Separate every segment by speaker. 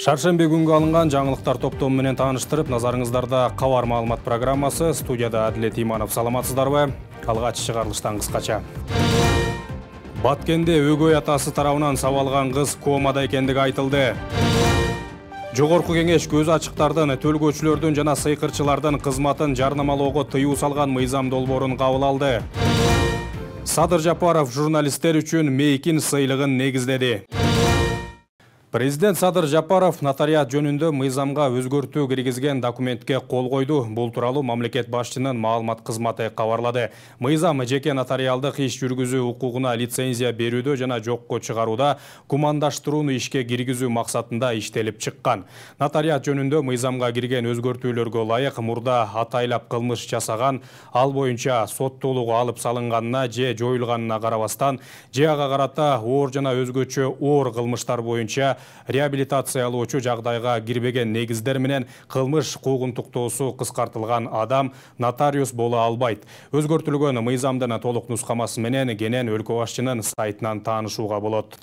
Speaker 1: Шаршембе күнгө алынган жаңылыктар топтому менен тааныштырып, назарыңыздарда кабар маалымат программасы. Студияда Адилет Иманов. Саламатсыздарбы? Алгач чыгарылыштан кыскача. Баткенде өгөй атасы тарабынан сабалган кыз комада экендиги айтылды. Жогорку кеңеш көз ачыктардын, төлгөөчүлөрдүн жана сыйкырчылардын кызматын жарнамалоого тыюу салган мыйзам долбоорун кабыл алды. Садыр Жапаров журналисттер үчүн мейкин сыйлыгын негиздеди. Президент Садыр Жапаров нотариат жөнүндө мыйзамга өзгөртүү киргизген документке кол койду. Бул тууралуу мамлекет башчынын маалымат кызматы кабарлады. Мыйзам жеке нотариалдык иш жүргүзүү укугуна лицензия берүүдө жана жокко чыгарууда кумандаштырууну ишке киргизүү максатында иштелип чыккан. Нотариат жөнүндө мыйзамга кирген өзгөртүүлөргө ылайык мурда атайлап кылмыш жасаган, ал боюнча соттуулугу алып салынганына же жоюлганына карабастан, же ага карата оор жана өзгөчө оор кылмыштар боюнча реабилитациялоочу жагдайга кирбеген негиздер менен кылмыш куугунтуктоосу кыскартылган адам нотариус боло албайт. Өзгөртүлгөн мыйзамдын толук нускамасы менен кенен өлкө башчынын сайтынан таанышууга болот.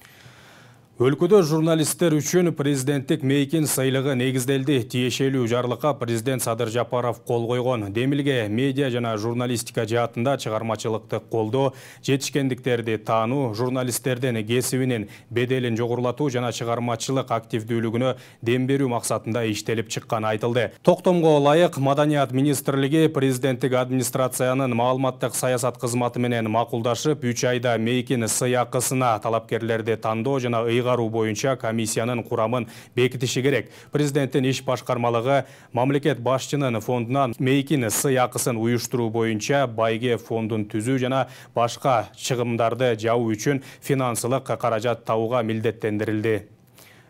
Speaker 1: Өлкөдө журналисттер үчүн президенттик мейкин сыйлыгы негизделди. Тиешелүү жарлыкка президент Садыр Жапаров кол койгон. Демилге медиа жана журналистика жаатында чыгармачылыкты колдоо, жетишкендиктерди таануу, журналисттердин кесибинин беделин жогорулатуу жана чыгармачылык активдүүлүгүнө дем берүү максатында иштелип чыкканы айтылды. Токтомго ылайык Маданият министрлиги президенттик администрациянын маалыматтык саясат кызматы менен макулдашып, 3 айда мейкин сый акысына талапкерлерди тандоо жана боюнча комиссиянын курамын бекитиши керек. Президенттин иш башкармалыгы мамлекет башчынын фондунан мейкин сый акысын уюштуруу боюнча байге фондун түзүү жана башка чыгымдарды жабуу үчүн финансылык каражат табууга милдеттендирилди.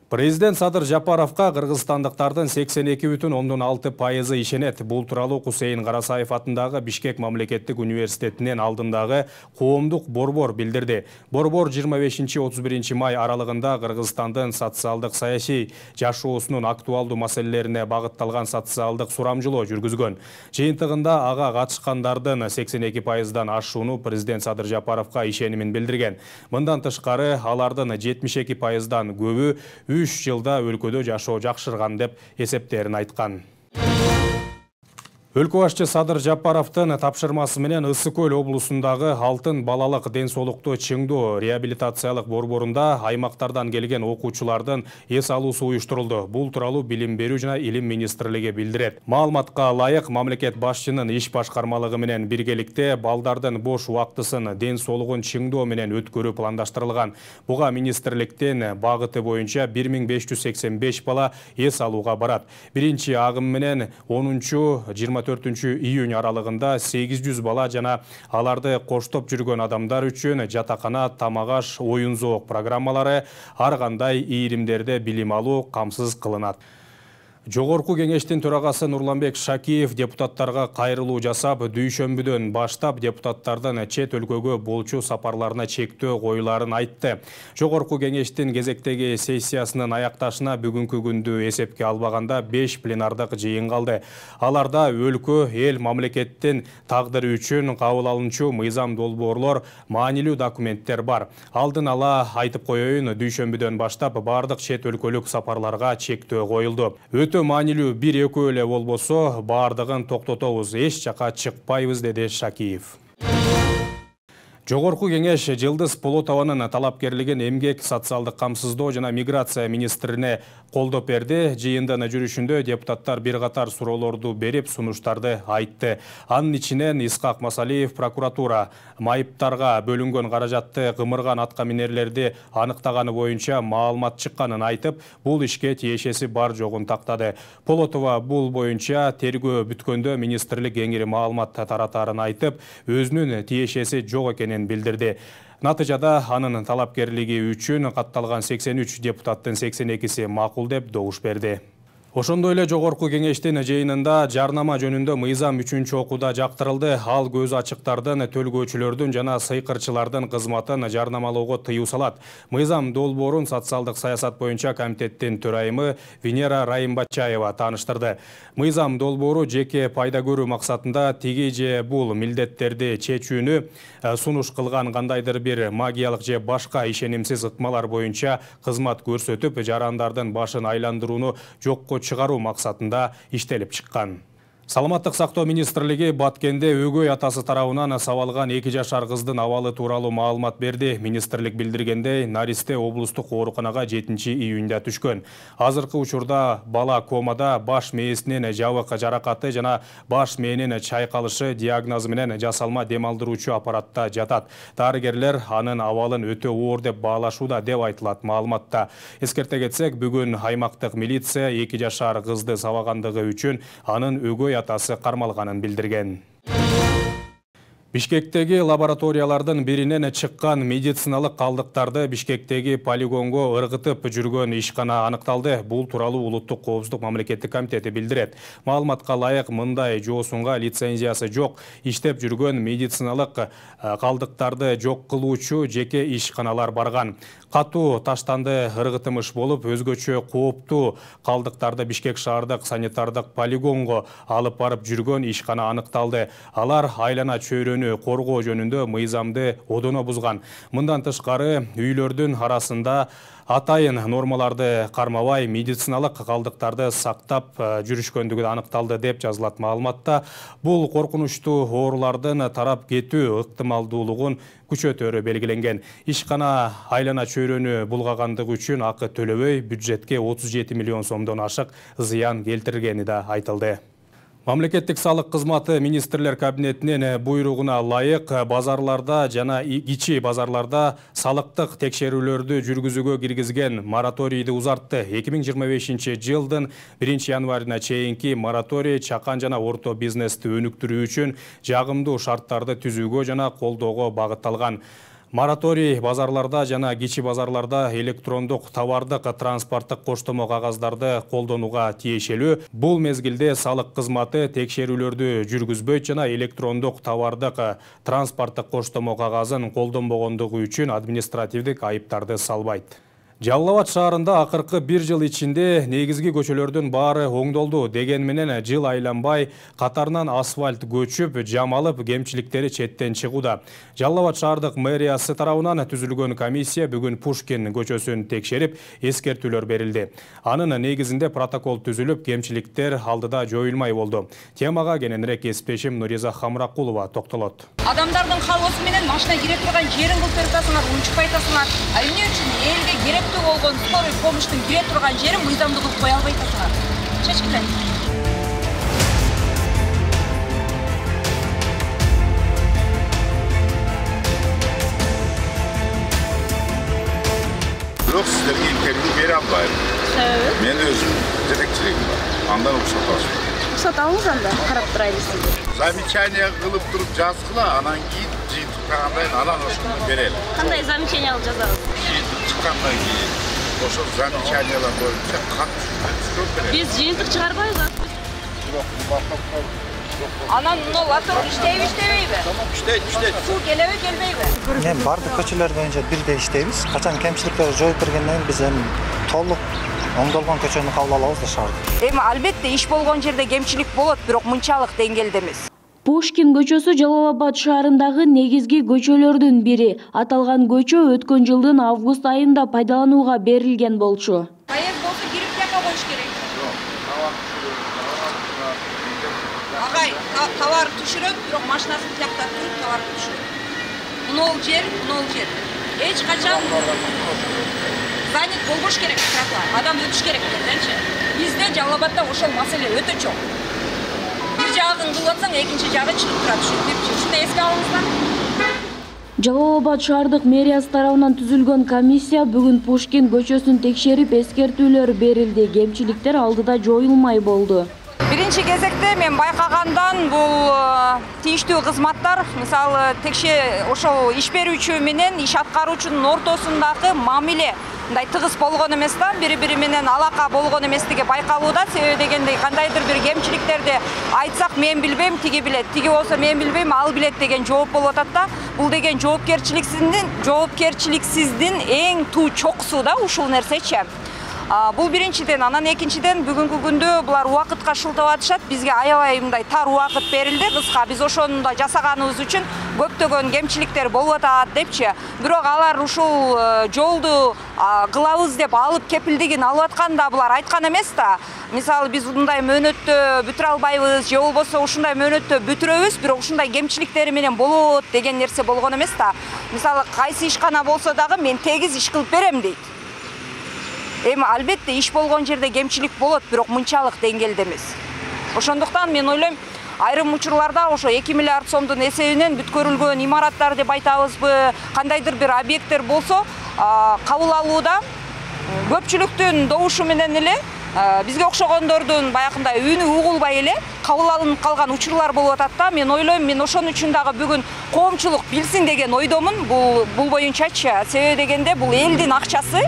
Speaker 1: Президент Садыр Жапаровка кыргызстандыктардын 82,6% ишенет. Бул тууралуу Кусейин Карасаев атындагы Бишкек мамлекеттик университетинин алдындагы коомдук борбор билдирди. Борбор 25-31 май аралыгында Кыргызстандын социалдык саясий жашоосунун актуалдуу маселелерине багытталган социалдык сурамжылоо жүргүзгөн. Жыйынтыгында ага катышкандардын 82%дан ашууну президент Садыр Жапаровка ишенимин билдирген. Мындан тышкары алардын 72%дан көбү 3 жылда өлкөдө жашоо жакшырган деп эсептерин айткан. Өлкө башчы Садыр Жапаровдун тапшырмасы менен Ысык Көл облусундагы Алтын балалык ден соолукту чыңдоо реабилитациялык борборунда аймактардан келген окуучулардын эс алуусу уюштурулду. Бул тууралуу Билим берүү жана Илим министрлиги билдирет. Маалыматка ылайык мамлекет башчынын иш башкармалыгы менен биргеликте балдардын бош убактысын ден соолугун чыңдоо менен өткөрүү пландаштырылган. Буга министрликтин багыты боюнча 1585 бала эс алууга барат. Биринчи агым менен 10-24 июнь аралыгында 800 бала жана аларды коштоп жүргөн адамдар үчүн жатакана, тамак-аш, оюн-зоок программалары, ар кандай ийримдерде билим алуу камсыз кылынат. Жогорку кеңештин төрагасы Нурланбек Шакиев депутаттарга кайрылуу жасап, дүйшөмбүдөн баштап депутаттардын чет өлкөгө болчу сапарларына чектөө коюларын айтты. Жогорку кеңештин кезектеги сессиясынын аякташына бүгүнкү күндү эсепке албаганда 5 пленардык жыйын калды. Аларда өлкө, эл, мамлекеттин тагдыры үчүн кабыл алынчу мыйзам долбоорлор, маанилүү документтер бар. Алдын ала айтып коеюн, дүйшөмбүдөн баштап бардык чет өлкөлүк сапарларга чектөө коюлду. Маанилүү 1-2 эле болбосо бардыгын токтотобуз, эч жака чыкпайбыз, деди Шакиев. Жогорку кеңеш Жылдыз Полотованын талапкерлигин эмгек, социалдык камсыздоо жана миграция министрине колдоп берди. Жыйындын жүрүшүндө депутаттар бир катар суроолорду берип, сунуштарды айтты. Анын ичинен Исхак Масалиев прокуратура майыптарга бөлүнгөн каражатты кымырган атка минерлерди аныктаганы боюнча маалымат чыкканын айтып, бул ишке тиешеси бар жогун тактады. Полотова бул боюнча тергөө бүткөндө министрлик кеңири маалымат таратарын айтып, өзүнүн тиешеси жок экенин билдирди. Натыйжада анын талапкерлиги үчүн катталган 83 депутаттын 82-си макул деп добуш берди. Ошондой эле жогорку кеңештин жыйынында жарнама жөнүндө мыйзам 3-окууда жактырылды. Ал көз ачыктардын, төлгөөчүлөрдүн жана сыйкырчылардын кызматын жарнамалоого тыюу салат. Мыйзам долбоорун социалдык саясат боюнча комитеттин төрайымы Венера Райымбачаева тааныштырды. Мыйзам долбоору жеке пайда көрүү максатында тиги же бул милдеттерди чечүүнү сунуш кылган кандайдыр бир магиялык же башка ишенимсиз ыкмалар боюнча кызмат көрсөтүп, жарандардын башын айландырууну жокко чыгаруу максатында иштелип чыккан. Саламаттык сактоо министрлиги Баткенде өгөй атасы тарабынан сабалган 2 жашар кыздын абалы тууралуу маалымат берди. Министрлик билдиргендей, наристе облустук ооруканага 7-июнда түшкөн. Азыркы учурда бала комада, баш мээсинен жабык жаракаты жана баш мээнин чайкалышы диагнозу менен жасалма дем алдыруучу аппаратта жатат. Дарыгерлер анын абалын өтө оор деп баалашууда деп айтылат маалыматта. Эскерте кетсек, бүгүн аймактык милиция 2 жашар кызды сабагандыгы үчүн анын өгөй атасы кармалганын билдирген. Бишкектеги лабораториялардын биринен чыккан медициналык калдыктарды Бишкектеги полигонго ыргытып жүргөн ишкана аныкталды. Бул тууралуу Улуттук коопсуздук мамлекеттик комитети билдирет. Маалыматка ылайык, мындай жоосунга лицензиясы жок, иштеп жүргөн медициналык калдыктарды жок кылуучу жеке ишканалар барган. Катуу таштанды ыргытымыш болуп, өзгөчө кооптуу калдыктарды Бишкек шаардык санитардык полигонго алып барып жүргөн ишкана аныкталды. Алар айлана чөйрөнү коргоо жөнүндө мыйзамды одоно бузган. Мындан тышкары үйлөрдүн арасында атайын нормаларды кармабай медициналык калдыктарды сактап жүрүшкөндүгү аныкталды деп жазылат маалыматта. Бул коркунучтуу оорулардын тарап кетүү ыктымалдуулугун күчөтөрү белгиленген. Ишкана айлана чөйрөнү булгагандыгы үчүн акы төлөбөй бюджетке 37 миллион сомдон ашык зыян келтиргени да айтылды. Мамлекеттик салык кызматы министрлер кабинетинин буйругуна ылайык базарларда жана кичи базарларда салыктык текшерүүлөрдү жүргүзүүгө киргизген мораторийди узартты. 2025 жылдын 1 январына чейинки мораторий чакан жана орто бизнести өнүктүрүү үчүн жагымдуу шарттарды түзүүгө жана колдоого багытталган. Мораторий базарларда жана кичи базарларда электрондук товардык транспорттук коштомо кагаздарды колдонууга тиешелүү. Бул мезгилде салык кызматы текшерүүлөрдү жүргүзбөйт жана электрондук товардык транспорттук коштомо кагазын колдонбогондугу үчүн административдик айыптарды салбайт. Жалал Абад шаарында акыркы 1 жыл ичинде негизги көчөлөрдүн баары оңдолду деген менен жыл айланбай катарынан асфальт көчүп, жамалып, кемчиликтери четтен чыгууда. Жалал Абад шаардык мэриясы тарабынан түзүлгөн комиссия бүгүн Пушкин көчөсүн текшерип, эскертүүлөр берилди. Анын негизинде протокол түзүлүп, кемчиликтер алдыда жоюлмай болду. Темага кененирээк кесиптешим Нуриза Хамракулова токтолот.
Speaker 2: Адамдардын калоосу менен машина кире турган жерин кылып атасыңар, унчукпай атасыңар. Эмне үчүн элге керектүү болгон скорый помощтун кире турган жерин мыйзамдуу кылып кое албай атасыңар? Чечкиле.
Speaker 3: Бирок сиздерге интервью бере албайм.
Speaker 2: Себеби?
Speaker 3: Мен өзүм жетекчилигим бар. Андан уруксат алышым.
Speaker 2: Уруксат алыңыз анда, карап турайлы сизди.
Speaker 3: Замечание кылып туруп жазгыла, анан кийин жыйынтыктагандай анан ошону берели.
Speaker 2: Кандай замечание алып жазабыз?
Speaker 3: Жыйынтык чыккандан кийин ошол замечаниялар боюнча кат түзүп берели.
Speaker 2: Биз жыйынтык чыгарбайбыз.
Speaker 3: Бирок
Speaker 2: Анан мына латор иштейби, иштебейби?
Speaker 3: иштейт.
Speaker 2: Суу келеби, келбейби?
Speaker 4: Мен бардык көчөлөр боюнча бирдей иштейбиз. Качан кемчиликтерди жоюп бергенден кийин биз эми толук оңдолгон көчөнү кабыл алабыз да шаарда.
Speaker 2: Эми албетте иш болгон жерде кемчилик болот, бирок мынчалык деңгээлде эмес.
Speaker 5: Пушкин көчөсү Жалал Абад шаарындагы негизги көчөлөрдүн бири. Аталган көчө өткөн жылдын август айында пайдаланууга берилген болчу.
Speaker 2: Кайер болсо кирип жака коюш керек. Агай, товар түшүрөт, бирок машинасын тиякта туруп товар түшүрөт. Мынол жер. Эч качан занят болбош керек тротуар. Адам өтүш керек дегенчи. Бизде Жалал Абадда ошол маселе өтө чоң. Бир жагын кылып атсаң, экинчи жагы чыгып турат. Ушундай эске алыңыздар.
Speaker 5: Жалал Абад шаардык мэриясы тарабынан түзүлгөн комиссия бүгүн Пушкин көчөсүн текшерип, эскертүүлөр берилди. Кемчиликтер алдыда жоюлмай болду.
Speaker 2: 1 биринчи кезекте мен байкагандан бул тийиштүү кызматтар, мисалы ошол иш берүүчү менен иш аткаруучунун ортосундагы мамиле мындай тыгыз болгон эмес да, бири-бири менен алака болгон эместиги байкалууда. Себеби дегенде кандайдыр бир кемчиликтерди айтсак мен билбейм, тиги билет, тиги болсо мен билбейм, ал билет деген жооп болуп атат да. Бул деген жоопкерчиликсиздин эң туу чокусу да ушул нерсечи. Бул биринчиден, анан экинчиден бүгүнкү күндө булар убакытка шылтап атышат. Бизге аябай мындай тар убакыт берилди, кыска. Биз ошону да жасаганыбыз үчүн көптөгөн кемчиликтер болуп атат депчи. Бирок алар ушул жолду кылабыз деп алып кепилдигин алып атканда булар айткан эмес да. Мисалы биз мындай мөөнөттө бүтүрө албайбыз, же болбосо ушундай мөөнөттө бүтүрөбүз, бирок ушундай кемчиликтери менен болот деген нерсе болгон эмес да. Мисалы кайсы ишкана болсо дагы мен тегиз иш кылып берем дейт. Эми албетте иш болгон жерде кемчилик болот, бирок мынчалык деңгээлде эмес. Ошондуктан мен ойлойм, айрым учурларда ошо 2 миллиард сомдун эсебинен бүткөрүлгөн имараттар деп айтабызбы, кандайдыр бир объекттер болсо, кабыл алууда көпчүлүктүн добушу менен эле бизге окшогондордун баягындай үнү угулбай эле кабыл алынып калган учурлар болуп атат да. Мен ойлойм, мен ошон үчүн дагы бүгүн коомчулук билсин деген ойдомун бул боюнчачы. Себеби дегенде бул элдин акчасы.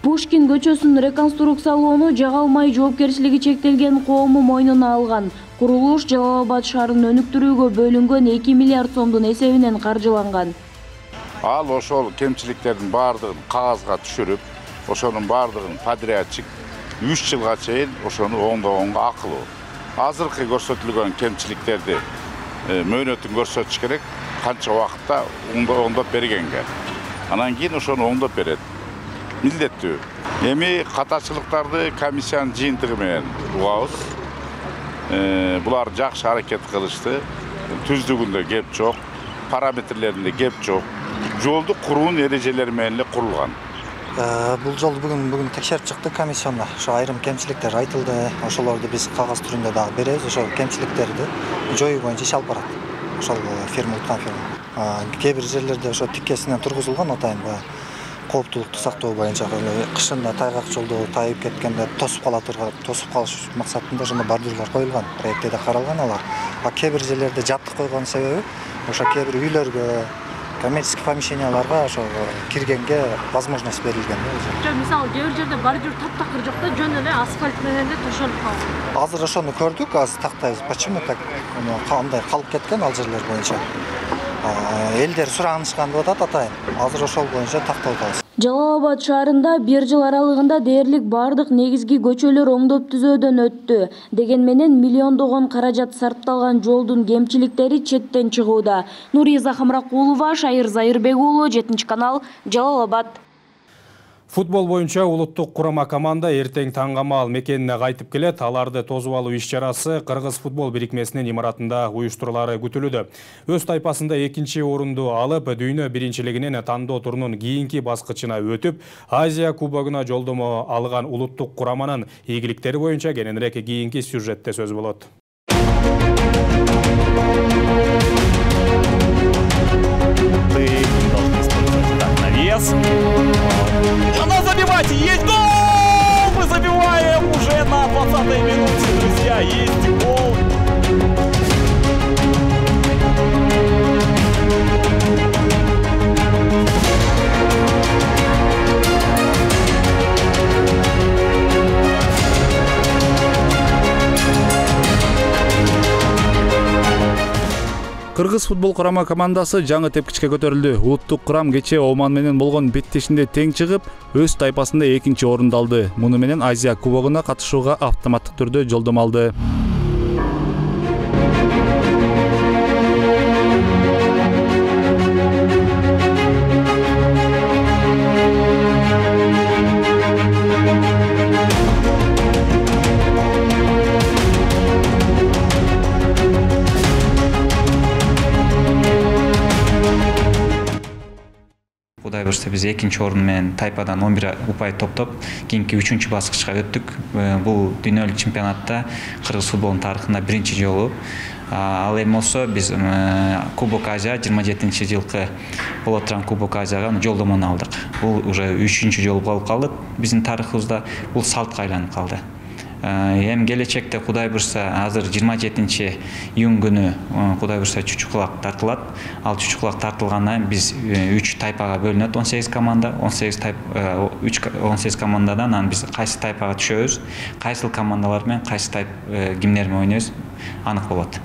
Speaker 5: Пушкин көчөсүн реконструкциялоону жага алмай жоопкерчилиги чектелген коому мойнуна алган. Курулуш Жалал Абад шаарын өнүктүрүүгө бөлүнгөн 2 миллиард сомдун эсебинен каржыланган.
Speaker 3: Ал ошол кемчиликтердин баардыгын кагазга түшүрүп, ошонун баардыгын подрядчик 3 жылга чейин ошону оңдогонго акылуу. Азыркы көрсөтүлгөн кемчиликтерди мөөнөтүн көрсөтүш керек, канча убакытта оңдоп бергенге. Анан кийин ошону оңдоп берет. Милдеттүү. Эми катачылыктарды комиссиянын жыйынтыгы менен угабыз. Булар жакшы аракет кылышты. Түздүгүндө кеп жок, параметрлеринде кеп жок. Жолду куруунун эрежелери менен эле курулган.
Speaker 4: Бул жолду бүгүн текшерип чыкты комиссияна. Ошо айрым кемчиликтер айтылды. Ошолорду биз кагаз түрүндө дагы беребиз. Ошол кемчиликтерди жоюу боюнча иш алып барат. Ошол фирма уткан фирма. Кээ бир жерлерде ошо тиккесинен тургузулган атайын кооптулукту сактоо боюнча кышында тайгак жолдо тайып кеткенде тосуп калыш максатында ошондой бордюрлар коюлган, проектте каралган алар. Кээ бир жерлерде жаттык койгон себеби ошо кээ бир үйлөргө, коммерческий помещенияларга ошо киргенге возможность берилген.
Speaker 6: Мисалы, кээ бир жерде бордюр таптакыр жок да, жөн эле асфальт менен эле төшөлүп калган.
Speaker 4: Азыр ошону көрдүк, азыр тактайбыз. Почему так кандай калып кеткен ал жерлер боюнча? Элдер суранышкан деп атат атайын. Азыр ошол боюнча тактап атабыз.
Speaker 5: Жалал Абад шаарында 1 жыл аралыгында дээрлик бардык негизги көчөлөр оңдоп түзөөдөн өттү. Деген менен миллиондогон каражат сарпталган жолдун кемчиликтери четтен чыгууда. Нуриза Хамракулова, Шайыр Зайырбек уулу, 7-канал, Жалал Абад.
Speaker 1: Футбол боюнча улуттук курама команда эртең таңгамал мекенине кайтып келет. Аларды тосуп алуу иш-чарасы Кыргыз футбол бирикмесинин имаратында уюштурулары күтүлүүдө. Өз тайпасында 2-чи орунду алып, дүйнө биринчилигинин тандоо турунун кийинки баскычына өтүп, Азия кубогуна жолдомо алган улуттук кураманын ийгиликтери боюнча кененирээк кийинки сюжетте сөз болот.
Speaker 7: Она забивать! Есть гол! Мы забиваем уже на 20-й минуте, друзья. Есть гол!
Speaker 8: Кыргыз футбол курама командасы жаңы тепкичке көтөрүлдү. Улуттук курам кечээ Оман менен болгон беттешинде тең чыгып, өз тайпасында 2-чи орунду алды. Муну менен Азия кубогуна катышууга автоматтык түрдө жолдомо алды.
Speaker 9: Кудай буюрса биз 2-чи орун менен тайпадан 11 упай топтоп, кийинки 3-чү баскычка өттүк. Бул дүйнөлүк чемпионатта Кыргыз футболунун тарыхында 1-чи жолу. Ал эми болсо биз Кубок Азия 27-жылкы боло турган Кубок Азияга жолдомону алдык. Бул уже 3-чү жолу болуп калды биздин тарыхыбызда. Бул салтка айланып калды. Эми келечекте Кудай буйрса азыр 27 июнь күнү Кудай буйрса чучукулак тартылат. Ал чучукулак тартылгандан биз 3 тайпага бөлүнөт, 18 команда, 18 командадан анан биз кайсы тайпага түшөбүз, кайсыл командалар менен кайсы тайп кимдер менен ойнойбуз анык болот.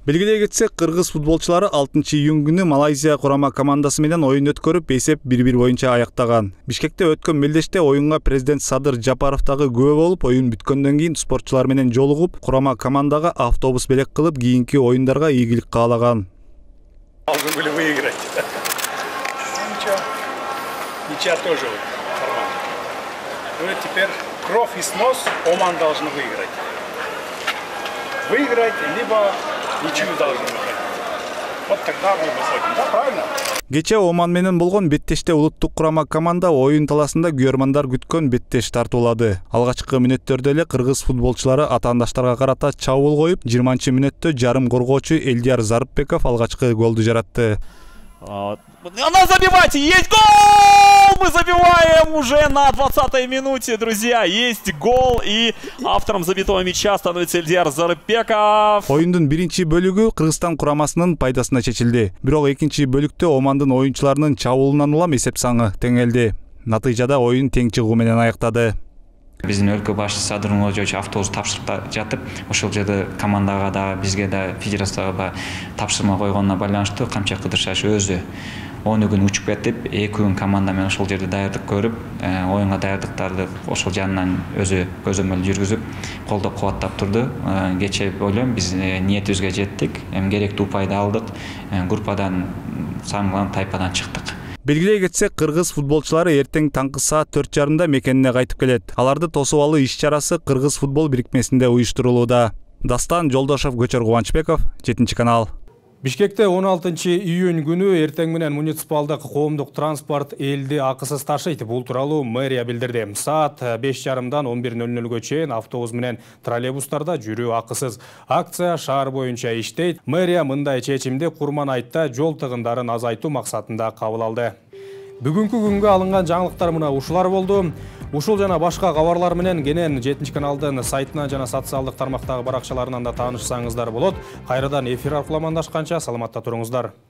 Speaker 8: Белгилей кетсек, кыргыз футболчулары 6 июнь күнү Малайзия курама командасы менен оюн өткөрүп, эсеп 1-1 боюнча аяктаган. Бишкекте өткөн мелдеште оюнга президент Садыр Жапаров дагы күбө болуп, оюн бүткөндөн кийин спортчулар менен жолугуп, курама командага автобус белек кылып, кийинки оюндарга ийгилик каалаган.
Speaker 10: Должны были выиграть. Ничья тоже нормально. Ну и теперь кровь и снос Оман должны выиграть. Выиграть, либо ничью должны выиграть. Вот тогда мы выходим. Да, правильно?
Speaker 8: Кече Оман менен болгон беттеште улуттук курама команда оюн таласында күйөрмандар күткөн беттеш тартуулады. Алгачкы мүнөттөрдө эле кыргыз футболчулары атаандаштарга карата чабуул коюп, 20-мүнөттө жарым коргоочу Элдияр Зарыпбеков алгачкы голду жаратты.
Speaker 7: Она забивать! Есть гол! Мы забиваем уже на 20-й минуте, друзья. Есть гол, и автором забитого мяча становится Элдияр Зарыпбеков.
Speaker 8: Оюндун биринчи бөлүгү Кыргызстан курамасынын пайдасына чечилди. Бирок экинчи бөлүктө Омандын оюнчуларынын чабуулунан улам эсеп саны теңелди. Натыйжада оюн тең чыгуу менен аяктады.
Speaker 9: Биздин өлкө башчысы Садыр Нурматович автобус тапшырып жатып, ошол жерде командага да, бизге да, федерацияга тапшырма койгонуна байланыштуу камча кыдыршаш өзү 10 күн учуп кетип, 2 күн команда менен ошол жерде даярдык көрүп, оюнга даярдыктарды ошол жанынан өзү көзөмөл жүргүзүп, колдоп кубаттап турду. Кече ойлойм биз ниетибизге жеттик, эми керектүү упайды алдык, группадан саңгыланып тайпадан чыктык.
Speaker 8: Белгилей кетсек, кыргыз футболчулары эртең таңкы саат 4:30 мекенине кайтып келет. Аларды тосуп алуу иш-чарасы Кыргыз футбол бирикмесинде уюштурулууда. Дастан Жолдошов, Көчөр Кубанычбеков, 7-канал.
Speaker 1: Бишкекте 16 июнь күнү эртең менен муниципалдык коомдук транспорт элди акысыз ташыйт. Бул тууралуу мэрия билдирди. Саат 5:30-дан 11:00 чейин автобус менен троллейбустарда жүрүү акысыз. Акция шаар боюнча иштейт. Мэрия мындай чечимди Курман айтта жол тыгындарын азайтуу максатында кабыл алды. Бүгүнкү күнгө алынган жаңылыктар мына ушулар болду. Ушул жана башка кабарлар менен кенен 7-каналдын сайтынан жана социалдык тармактагы баракчаларынан да таанышсаңыздар болот. Кайрадан эфир аркылуу амандашканча саламатта туруңуздар.